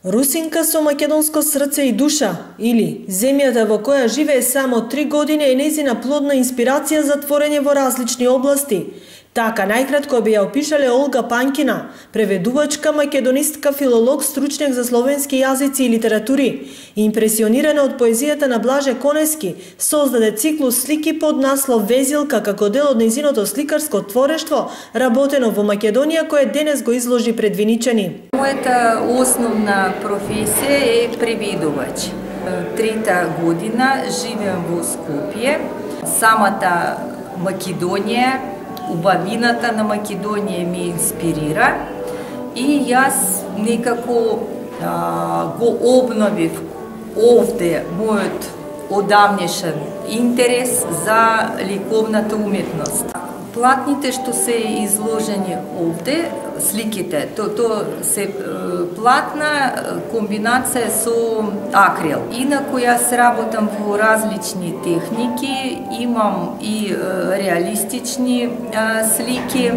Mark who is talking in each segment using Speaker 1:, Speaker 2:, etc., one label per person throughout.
Speaker 1: Русинка со македонско срце и душа, или земјата во која живее само 3 години е нејзина плодна инспирација за творење во различни области. Така најкратко би ја опишале Олга Панкина, преведувачка, македонистка, филолог, стручњак за словенски јазици и литератури. Импресионирана од поезијата на Блаже Конески, создаде циклус слики под наслов Везилка како дел од нејзиното сликарско творештво, работено во Македонија, кое денес го изложи пред виничани.
Speaker 2: Мојата основна професија е преведувач. Трета година живеам во Скопје. Самата Македонија, убавината на Македонија ме инспирира и јас некако го обновив овде мојот одамнешен интерес за ликовната уметност. Платните што се изложени овде, сликите, тоа се платна комбинација со акрил. Инаку јас работам во различни техники, имам и реалистични слики,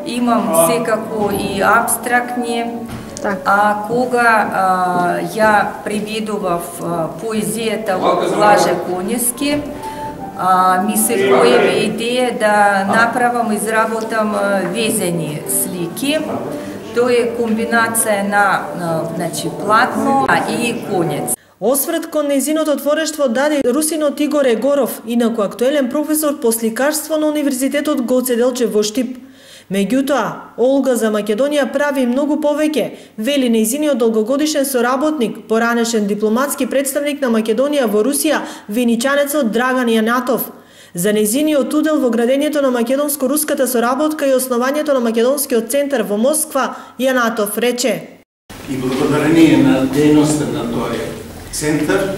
Speaker 2: имам секако и абстрактни. А кога ја преведував поезијата од Блаже Конески, ми се појави идеја да направам, изработам везени слики. Тоа е комбинација на платно и конец.
Speaker 1: Осврт кон нејзиното творештво даде русинот Игор Егоров, инаку актуелен професор по сликарство на Универзитетот Гоце Делчев во Штип. Меѓутоа, Олга за Македонија прави многу повеќе, вели нејзиниот долгогодишен соработник, поранешен дипломатски представник на Македонија во Русија, виничанецот Драган Јанатов. За нејзиниот удел во градењето на македонско-руската соработка и основањето на Македонскиот центар во Москва, Јанатов рече:
Speaker 3: И благодарение на дејноста на тој центар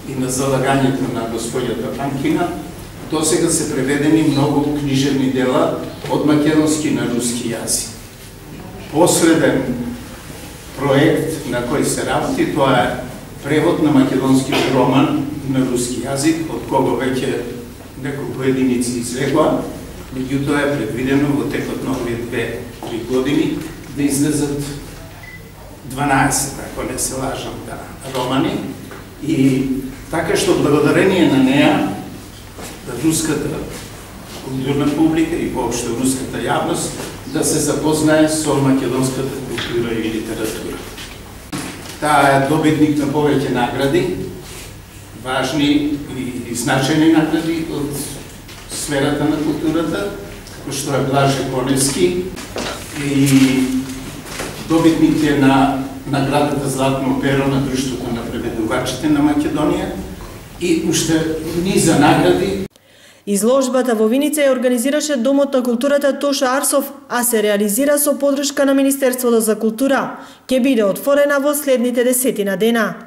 Speaker 3: и на залагањето на господјата Панкина, досега се преведени многу книжевни дела од македонски на руски јазик. Последен проект на кој се работи, тоа е превод на македонски роман на руски јазик, од кого веќе неколку единици излегоа, меѓутоа е предвидено во текот на овие 2-3 години да излезат 12, ако не се лажам, романи. И така што благодарение на неа руската културна публика и воопшто руската јавност да се запознае со македонската култура и литература. Таа е добитник на повеќе награди, важни и значајни награди од сферата на културата, како што е Блаже Конески, и добитник е на наградата Златно перо на Друштвото на преведувачите на Македонија и уште низа награди.
Speaker 1: Изложбата во Виница ја организираше Домот на културата Тоша Арсов, а се реализира со поддршка на Министерството за култура. Ќе биде отворена во следните 10 дена.